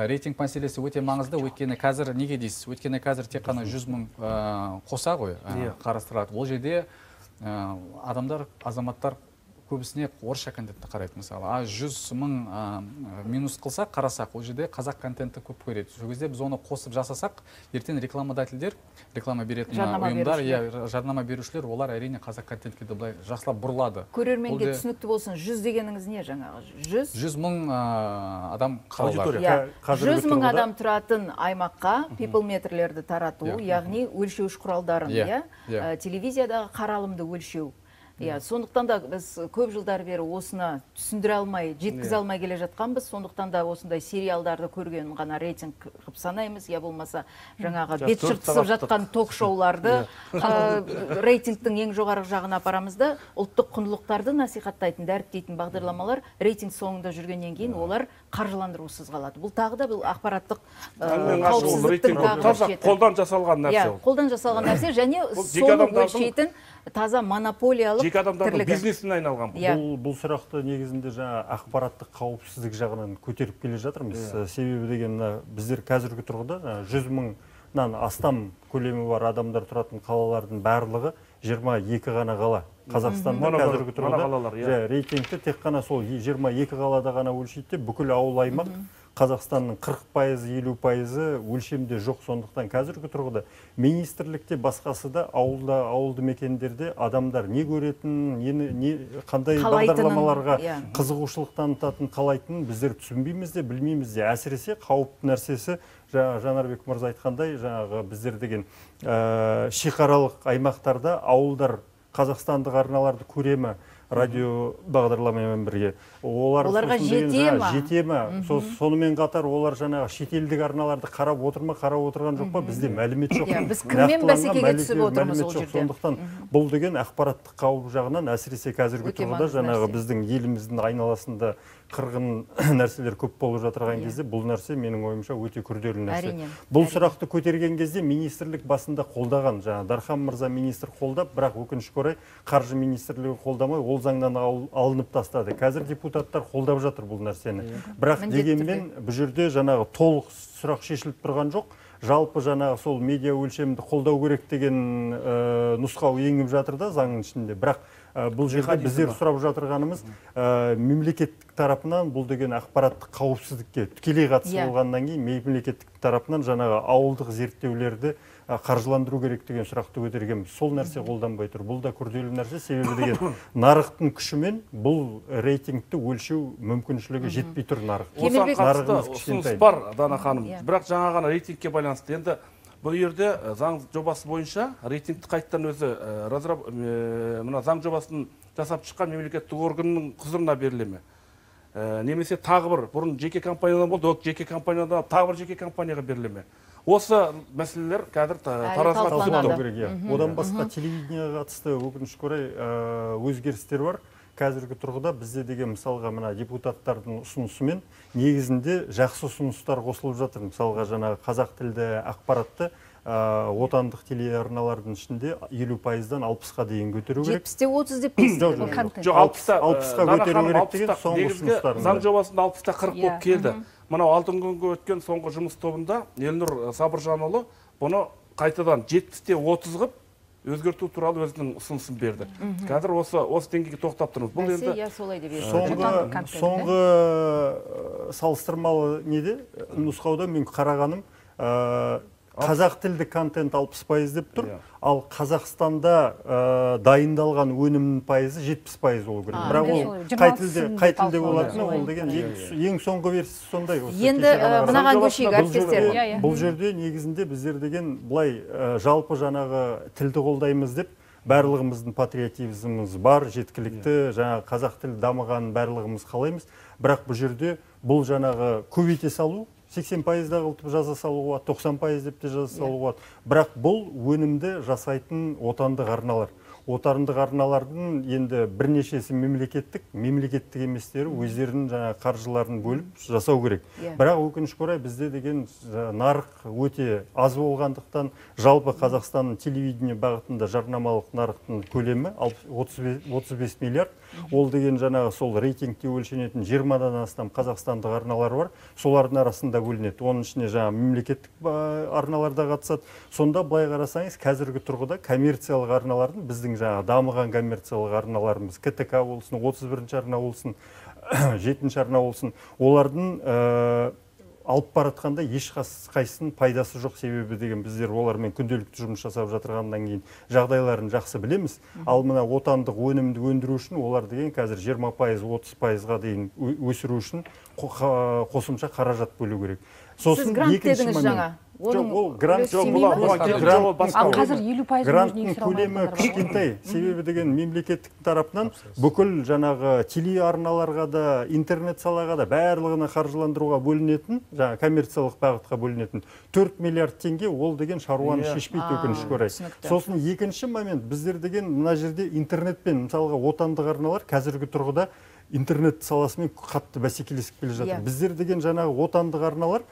Рейтинг мәселесі өте маңызды, өйткені қазір неге дейсіз? Өйткені қазір тек қана 100 мың қоса ғой қарастырылады. Ол жерде адамдар, азаматтар көбісіне орысша контентті қарайды мысалы. 100 мың минус қылсақ, қарасақ, ол жерде қазақ контентті көп көреді. Сол кезде біз оны қосып жасасақ, ертең рекламодательдер, реклама беретін ұйымдар, жарнама берушілер, олар әрине қазақ контентке де былай жақсылап бұрылады. Көрерменге түсінікті болсын, 100 дегеніңіз не жаңағы? 100 мың адам қалалар. 100 мың адам тұратын аймаққа пиплметрлерді тарату, яғни өлшеуіш құралдарын, телевизиядағы қаралымды өлшеу. Сондықтан да біз көп жылдар бері осыны түсіндіре алмай, жеткізе алмай келе жатқанбыз. Сондықтан да осындай сериалдарды көрген ғана рейтинг қып санаймыз, я болмаса жаңағы бет жыртысып жатқан ток-шоуларды рейтингтің ең жоғары жағына апарамыз да, ұлттық құндылықтарды насихаттайтын, дәріптейтін бағдарламалар рейтинг соңында жүргеннен кейін олар қаржыландырусыз қалады. Бұл тағы да бұл ақпараттық қауіпсіздіктің тағы қолдан жасалған нәрсе. Қолдан жасалған нәрсе және соны өлшейтін таза монополиялық жеке адамдардың бизнесіне айналған. Бұл сұрақты негізінде жаңа ақпараттық қауіпсіздік жағынан көтеріп келе жатырмыз. Себебі деген біздер қазіргі тұрғыда 100 мыңнан астам көлемі бар адамдар тұратын қалалардың барлығы 22 ғана қала. Қазақстанда қазіргі тұрғыда рейтингті тек қана сол 22 қалада ғана өлшейді, бүкіл ауыл аймақ Қазақстанның 40%, 50% өлшемде жоқ. Сондықтан қазіргі тұрғыда министрлікте басқасы да ауылды мекендерде адамдар не көретін, қандай бағдарламаларға қызығушылық танытатын, қалайтынын біздер түсінбейміз де, білмейміз де. Әсіресе қауіпті нәрсесі Жанарбек мырза айтқандай, жаңағы біздер деген шекаралық аймақтарда ауылдар қазақстандық арналарды көремі, радио бағдарламамен бірге. Оларға жете ме? Сонымен қатар олар жаңағы шетелдік арналарды қарап отырған жоқ па? Бізде мәлімет жоқ. Біз кіммен бәсекеге түсіп отырмыз ол жерде. Сондықтан бұл деген ақпараттық қауіп жағынан әсіресе қазіргі тұрғыда жаңағы біздің еліміздің айналасында қырғын нәрселер көп болып жатырған кезде бұл нәрсе менің ойымша өте күрделі нәрсе. Бұл сұрақты көтерген кезде министрлік басында қолдаған, жаңа Дархан мырза министр қолдап, бірақ өкінішке орай қаржы министрлігі қолдамай, ол заңнан алынып тастады. Қазір депутаттар қолдап жатыр бұл нәрсені. Бірақ дегенмен бұл жерде жаңағы толық сұрақ шешіліп тұрған жоқ. Жалпы жаңағы сол медиа өлшемді қолдау керек деген нұсқау енгіп жатыр да заңның ішінде. Бірақ бұл жерде біздер сұрап жатырғанымыз мемлекеттік тарапынан бұл деген ақпараттық қауіпсіздікке тікелей қатысы болғаннан кейін мемлекеттік тарапынан жаңағы ауылдық зерттеулерді қаржыландыру керек деген сұрақты көтергенбіз. Сол нәрсе қолданбай тұр. Бұл да күрделі нәрсе, себебі деген нарықтың күшімен бұл рейтингті өлшеу мүмкіншілігі жетпей тұр нарық. Осыған қатысты ұсыныс бар, Дана ханым. Бірақ жаңа ғана рейтингке байланысты. Енді бұл жерде заң жобасы бойынша рейтингті қайттан өзі мына заң жобасын жасап шыққан мемлекеттік органның құзырына беріле ме? Немесе тағы бір бұрын жеке компаниядан болды, жеке компаниядан тағы бір жеке компанияға беріле ме? Осы мәселелер қазір таразыға түсіп керек. Одан басқа телевидениеға қатысты өкінішке орай өзгерістер бар. Қазіргі тұрғыда бізде деген мысалға мына депутаттардың ұсынысымен негізінде жақсы ұсыныстар қосылып жатыр. Мысалға жаңағы қазақ тілді ақпаратты отандық телеарналардың ішінде 50%-дан 60-қа дейін көтеру керек. 70-те 30 деп қойсыз. Жоқ, 60-қа көтеру керек деген соңғы ұсыныстарында. Заң жобасында 60-та 40 болып келді. Мынау алтын күнге өткен соңғы жұмыс тобында Елнұр Сабыржанұлы бұны қайтадан 70-те 30 қып өзгерту туралы өзінің ұсынысын берді. Қазір осы деңгейге тоқтап тұрмыз. Бұл енді соңғы салыстырмалы неде нұсқауда мен қарағаным қазақ тілді контент 60% деп тұр, ал Қазақстанда дайындалған өнімнің пайызы 70% болу керек. Бірақ ол қай тілде болатыны, ол деген ең соңғы версиясы сондай. Енді мынаған көшейік әріптестер. Бұл жерде негізінде біздер деген былай жалпы жаңағы тілді қолдаймыз деп, барлығымыздың патриотизміміз бар, жеткілікті, жаңағы қазақ тілі дамығанын барлығымыз қалаймыз. Бірақ бұл жерде бұл жаңағы көбейте салу, 80%-да қылтып жаза салуға, 90% деп те жаза салуға. Бірақ бұл өнімді жасайтын отандық арналар. Отандық арналардың енді бірнешесі мемлекеттік еместері өздерінің жаңа қаржыларын бөліп жасау керек. Бірақ өкінішке орай бізде деген нарық өте аз болғандықтан, жалпы Қазақстанның телевидение бағытында жарнамалық нарықтың көлемі 35 миллиард. Ол деген жаңағы сол рейтингте өлшенетін 20-дан астам қазақстандық арналар бар. Солардың арасында бөлінеді. Оның ішіне жаңа мемлекеттік арналар да қатысады. Сонда былай қарасаңыз, қазіргі тұрғыда коммерциялық арналардың, біздің жаңа дамыған коммерциялық арналарымыз, КТК болсын, 31-ші арна болсын, 7-ші арна болсын, олардың алып баратқанда ешқайсының пайдасы жоқ. Себебі деген біздер олармен күнделікті жұмыс жасап жатырғаннан кейін жағдайларын жақсы білеміз. Ал мына отандық өнімді өндіру үшін олар деген қазір 20%-30%-ға дейін өсіру үшін қосымша қаражат бөлу керек. Сіз грант дедіңіз жаңа. Ол грант қазір 50% гранттың көлемі кішкентай. Себебі деген мемлекеттік тарапынан бүкіл жаңағы телеарналарға да, интернет салаға да барлығына қаржыландыруға бөлінетін, жаңа коммерциялық бағытқа бөлінетін 4 миллиард теңге ол деген шаруаны шешпейді, өкінішке орай. Сосын екінші момент, біздер деген мына жерде интернетпен, мысалға отандық арналар қазіргі тұрғыда интернет саласымен қатты бәсекелесіп келе жатыр. Біздер деген жаңағы отандық арналар,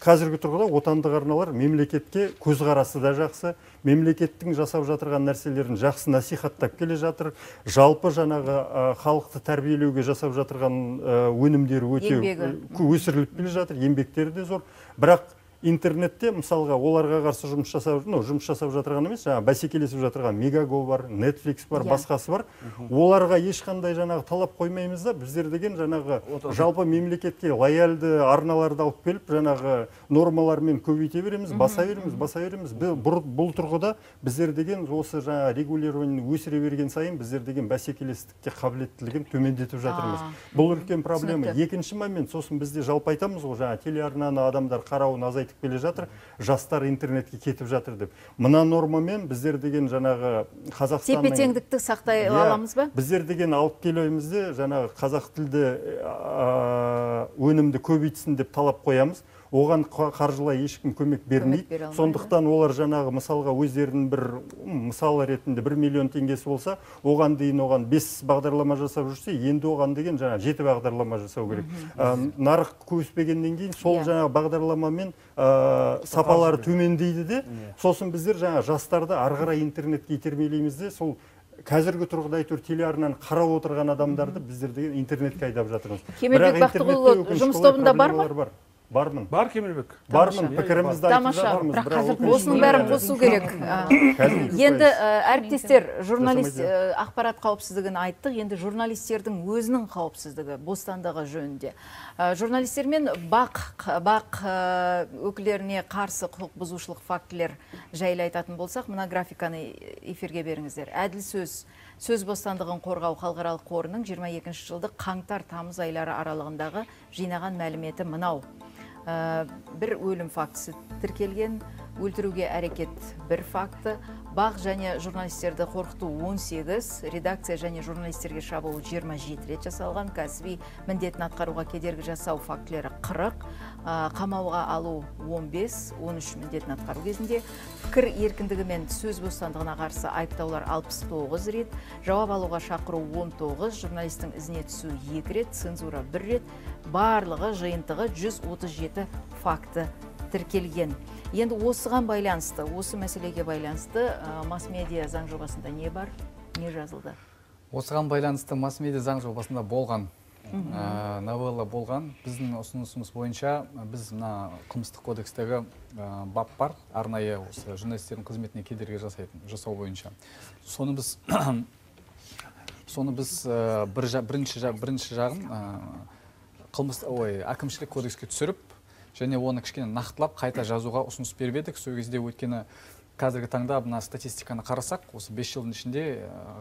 қазіргі тұрғыда отандық арналар мемлекетке көзқарасы да жақсы, мемлекеттің жасап жатырған нәрселерін жақсы насихаттап келе жатыр. Жалпы жаңағы халықты тәрбиелеуге жасап жатырған өнімдері өте өсіріліп келе жатыр, еңбектері де зор. Бірақ интернетте мысалға оларға қарсы жұмыс жасап жатырған емес, жаңа бәсекелесіп жатырған Мегаго бар, Netflix бар, басқасы бар. Оларға ешқандай жаңағы талап қоймаймыз да, біздер деген жаңағы жалпы мемлекетке лояльды арналарды алып келіп, жаңағы нормалармен көбейте береміз, баса береміз. Бұл тұрғыда біздер деген осы жаңа регулирование өсіре берген сайын біздер деген бәсекелестікке қабілеттілігін төмендетіп жатырмыз. Бұл үлкен проблема. Екінші момент, сосын бізде жалпы айтамыз ғой, жаңа телеарнаны адамдар қарауын азайтып келе жатыр, жастар интернетке кетіп жатыр деп. Мына нормамен біздер деген жаңағы Қазақстанның тепе-теңдікті сақтай аламыз ба? Біздер деген алып келуімізде жаңағы қазақ тілді өнімді көбейтсін деп талап қоямыз. Оған қаржылай ешкім көмек бермейді. Сондықтан олар жаңағы мысалға өздерінің бір мысалы ретінде 1 миллион теңгесі болса, оған дейін оған 5 бағдарлама жасап жүрсе, енді оған деген жаңа 7 бағдарлама жасау керек. Нарық көбеспегеннен кейін сол жаңа бағдарламамен сапалары төмендейді де, сосын біздер жаңа жастарды арғара интернетке итермелейміз де, сол қазіргі тұрғыда әйтеуір телеарнаны қарап отырған адамдарды біздер деген интернетке айдап жатырмыз. Кемелбек Бақтығұлы жұмыс тобында бар ма? Бармын. Бар Кемелбек. Бармын, пікірімізді айтып жатырмыз. Осының бәрін қосу керек. Енді әріптестер, журналист ақпарат қауіпсіздігін айттық, енді журналистердің өзінің қауіпсіздігі, бостандығы жөнінде. Журналистер мен бақ өкілеріне қарсы құқық бұзушылық фактілер жайлы айтатын болсақ, мына графиканы эфирге беріңіздер. Әділ сөз бостандығын қорғау халықаралық қорының 22 жылдық қаңтар-тамыз айлары аралығындағы жинаған мәліметі мынау. Бір өлім фактісі тіркелген, өлтіруге әрекет 1 факті, бақ және журналистерді қорқыту 18, редакция және журналистерге шабуыл 27 рет жасалған, кәсіби міндетін атқаруға кедергі жасау фактілері 40, қамауға алу 15, 13 міндетін атқару кезінде, пікір еркіндігі мен сөз бостандығына қарсы айыптаулар 69 рет, жауап алуға шақыру 19, журналистің ізіне түсу 2 рет, цензура 1 рет, барлығы жиынтығы 137 факті тіркелген. Енді осыған байланысты, осы мәселеге байланысты масс-медиа заң жобасында не бар, не жазылды? Осыған байланысты масс-медиа заң жобасында болған, новелла болған. Біздің ұсынысымыз бойынша біз мына қылмыстық кодекстегі бап бар, арнайы осы журналистердің қызметіне кедергі жасау бойынша. Соны біз бірінші жағын әкімшілік кодекске түсіріп, және оны кішкене нақтылап қайта жазуға ұсыныс беріп едік. Сол кезде өткені қазіргі таңда мына статистиканы қарасақ, осы 5 жылдың ішінде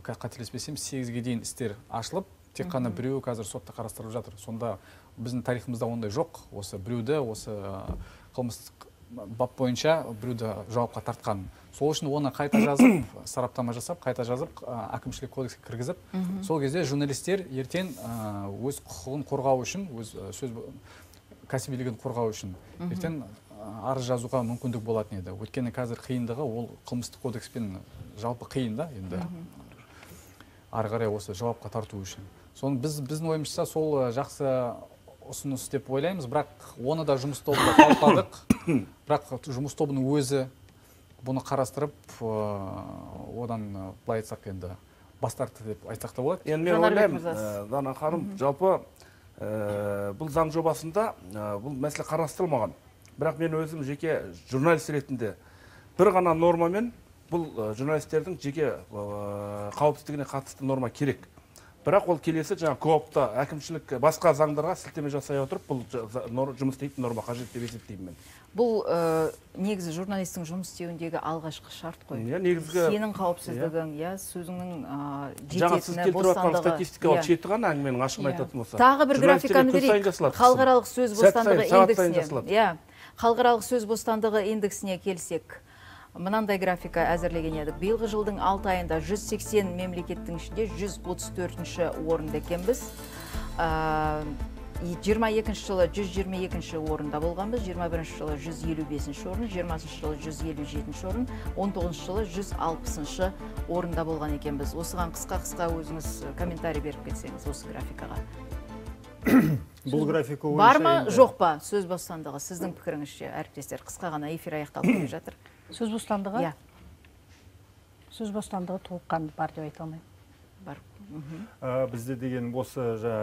қателеспесем 8-ге дейін істер ашылып, тек қана біреуі қазір сотта қарастырылып жатыр. Сонда біздің тарихымызда ондай жоқ. Осы біреуді осы қылмыстық бап бойынша біреуді жауапқа тартқан. Сол үшін оны қайта жазып, сараптама жасап, қайта жазып, әкімшілік кодекске кіргізіп, сол кезде журналистер ертең өз құқығын қорғау үшін, өз сөз кәсібилігін қорғау үшін ертең арыз жазуға мүмкіндік болатын еді. Өйткені қазір қиындығы ол қылмыстық кодекспен жалпы қиын да, енді ары қарай осы жауапқа тарту үшін. Соны біздің ойымызша сол жақсы ұсыныс деп ойлаймыз, бірақ оны да жұмыс тобында талқыладық. Бірақ жұмыс тобының өзі бұны қарастырып, одан былай айтсақ енді бас тартты деп айтсақ та болады. Енді мен ойлаймын, Дана ханым, жалпы бұл заң жобасында бұл мәселе қарастырылмаған. Бірақ мен өзім жеке журналист ретінде бір ғана нормамен бұл журналистердің жеке қауіпсіздігіне қатысты норма керек. Бірақ ол келесі жаңа коопта әкімшілік басқа заңдарға сілтеме жасай отырып, бұл жұмыс істейтін норма қажет деп есептеймін мен. Бұл негізі журналистің жұмыс істеуіндегі алғашқы шарт қой. Сенің қауіпсіздігің, сөзіңнің жететіні, бостандығы. Статистикалық жеті ғана әңгіменің ашығын айтатын болса. Тағы бір графиканы берейік. Халықаралық сөз бостандығы индексіне. Халықаралық сөз бостандығы индексіне келсек, мынандай графика әзірлеген едік. Биылғы жылдың 6 айында 180 мемлекеттің ішінде 134-ші орында екенбіз. 22-ші жылы 122-ші орында болғанбыз, 21-ші жылы 155-ші орын, 20-ші жылы 157-ші орын, 19-ші жылы 160-ші орында болған екенбіз. Осыған қысқа өзіңіз комментарий беріп кетсеңіз осы графикаға. Бұл графика бар ма, жоқ па сөз бостандығы? Сіздің пікіріңізше, әріптестер, қысқа ғана эфир аяқталып келе жатыр. Сөз бостандығы? Сөз бостандығы толыққанды бар деп айта алмаймын. Бар. Бізде деген осы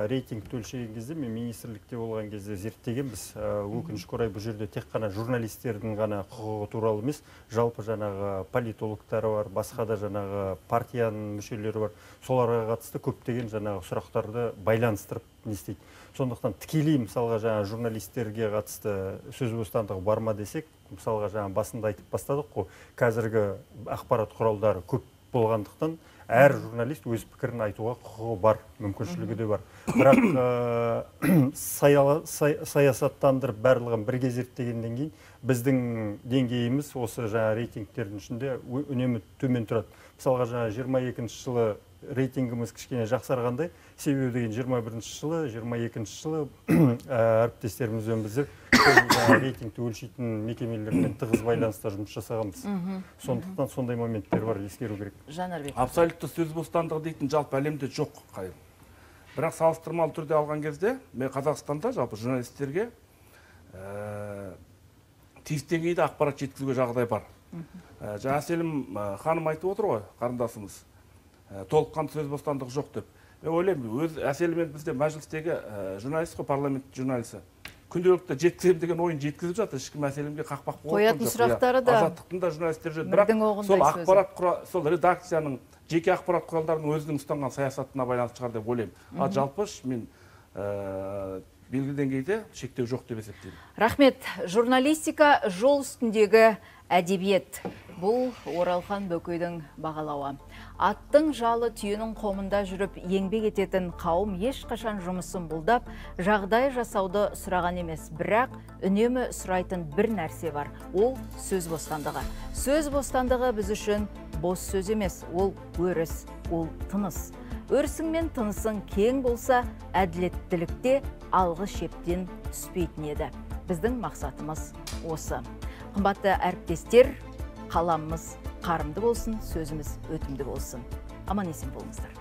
рейтингті өлшеген кезде, мен министрлікте болған кезде зерттегенбіз. Өкінішке орай бұл жерде тек қана журналистердің ғана құқығы туралы емес, жалпы жаңағы политологтары бар, басқа да жаңағы партияның мүшелері бар. Соларға қатысты көптеген жаңағы сұрақтарды байланыстырып не істейді. Сондықтан тікелей мысалға жаңа журналистерге қатысты сөз бостандығы бар ма десек, мысалға жаңа басында айтып бастадық қой, қазіргі ақпарат құралдары көп болғандықтан әр журналист өз пікірін айтуға құқығы бар, мүмкіншілігі де бар. Бірақ саясаттандырып барлығын бірге зерттегеннен кейін біздің деңгейіміз осы жаңа рейтингтердің ішінде үнемі төмен тұрады. Мысалға жаңа 22-ші жылы рейтингіміз кішкене жақсарғандай, себебі деген 21-ші жылы, 22-ші жылы әріптестерімізбен біздер рейтингті өлшейтін мекемелермен тығыз байланыста жұмыс жасағанбыз. Сондықтан сондай моменттер бар, ескеру керек. Абсолютті сөз бостандығы дейтін жалпы әлемде жоқ қайым. Бірақ салыстырмалы түрде алған кезде, мен Қазақстанда жалпы журналистерге тиісті деңгейде ақпарат жеткізуге жағдай бар. Жаңа Әселім ханым айтып отыр ғой, қарындасымыз, толыққанды сөз бостандығы жоқ деп. Мен ойлаймын, өз Әселімен бізде мәжілістегі журналист қой, парламент журналисі. Күнделікті жеткізем деген ойын жеткізіп жатыр, ешкім Әселімге қақпақ болып қоятын сұрақтары да азаттықтың да журналистер жүр. Бірақ сол редакцияның жеке ақпарат құралдарының өзінің ұстанған саясатына байланысты шығар деп ойлаймын. Жалпы мен белгілі деңгейде шектеу жоқ деп есептеймін. Рахмет. Журналистика жол үстіндегі әдебиет. Бұл Оралхан Бөкейдің бағалауы. Аттың жалы түйенің қомында жүріп еңбек ететін қауым ешқашан жұмысын бұлдап, жағдай жасауды сұраған емес, бірақ үнемі сұрайтын бір нәрсе бар. Ол сөз бостандығы. Сөз бостандығы біз үшін бос сөз емес, ол өріс, ол тыныс. Өрісің мен тынысың кең болса, әділеттілікте алғы шептен түспейтін еді. Біздің мақсатымыз осы. Қымбатты әріптестер, қаламымыз қарымды болсын, сөзіміз өтімді болсын. Аман есен болыңыздар.